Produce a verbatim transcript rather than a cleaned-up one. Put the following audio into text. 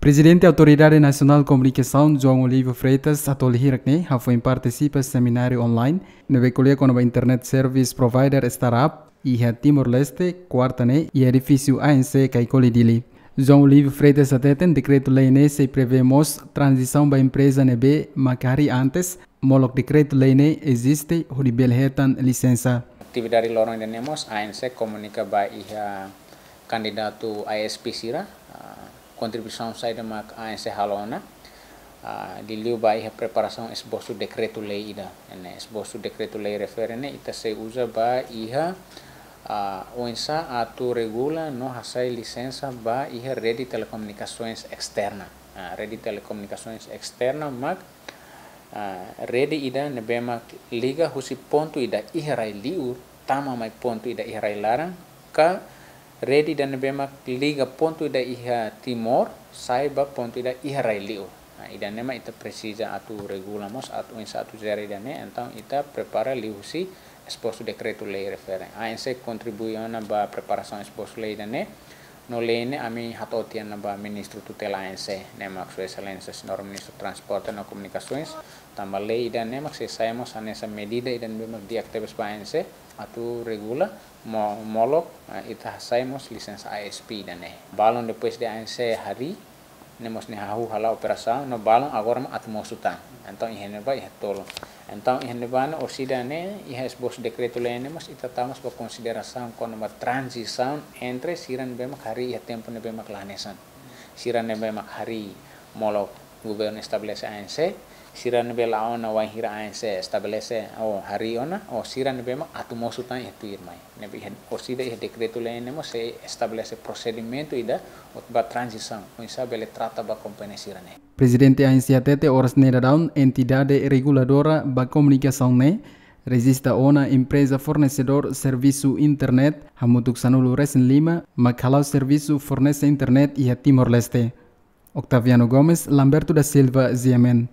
Prezidente Autoridade Nasionál Komunikasaun, João Olívio Freitas, atoli hirak ne'e hafoin partisipa semináriu online ne'ebé ko'alia kona-ba Internet Service Provider Startup iha Timor-Leste, kuarta ne'e, iha edifísiu A N C Caicoli, Dili. João Olívio Freitas hateten dekretu-lei ne'e sei prevee mós tranzisaun ba empreza ne'ebé mak harii antes, molok dekretu-lei ne'e eziste hodi bele hetan lisensa. Atividade loron ida-ne'e mós A N C komunika ba iha kandidatu A S P sira, ah, kontribuisaun saida mak A N C halo ona, ah, liuliu ba iha preparasaun esbosu dekretu-lei ida. Ne'e esbosu dekretu-lei refere ne'e ita sei uza ba iha, ah, oinsá atu regula no hasai lisensa ba iha rede telekomunikasoens esterna. Ah, rede telekomunikasoens esterna mak, ah, rede ida ne'ebé mak liga husi pontu ida iha rai-liur tama mai pontu ida iha rai-laran, ka rede ida ne'ebé mak liga pontu ida iha Timor sai ba pontu ida iha rai-liur. Ah, ida-ne'e mak ita presiza atu regula mós, atu oinsá atu jere ida-ne'e, entaun ita prepara liuhusi esbosu dekretu-lei refere. A N C kontribui ona ba preparasaun esbosu lei ida-ne'e, no lei ne'e ami hato'o tiha ona ba Ministru Tutela A N C, ne'e mak Sua Exelénsia Señór Ministru Transporte no Komunikasoens, tanba lei ida-ne'e mak sei sai mós hanesan medida ida ne'ebé mak di'ak tebes ba A N C atu regula mo-, molok, eh, ita hasai mós lisensa A S P ida-ne'e. Balun depois de A N C harii, ne'e mós nia hahú hala'o operasaun, no balun agora mak atu mosu tan. Entaun iha ne'ebá iha tolu. Entaun iha ne'ebá ne'e orsida ne'e iha esbosu dekretu-lei ne'e mós ita tau mós ba konsiderasaun kona-ba tranzisaun entre sira ne'ebé mak harii iha tempu ne'ebé mak la hanesan. Sira ne'ebé mak harii molok governu estabelese A N C, sira ne'ebé la'o ona wainhira A N C estabelese ou harii ona, ou sira ne'ebé mak atu mosu tan iha tuirmai. Ne'ebé iha, orsida iha dekretu-lei ne'e mós sei estabelese prosedimentu ida hodi ba tranzisaun, oinsá bele trata ba kompañia sira-ne'e. Prezidente A N C hateten oras ne'e daudaun entidade reguladora ba komunikasaun ne'e rejista ona empreza fornesedór servisu internet hamutuk sanulu-resin-lima mak hala'o servisu fornese internet iha Timor-Leste. Octaviano Gomes, Lamberto da Silva, G M N.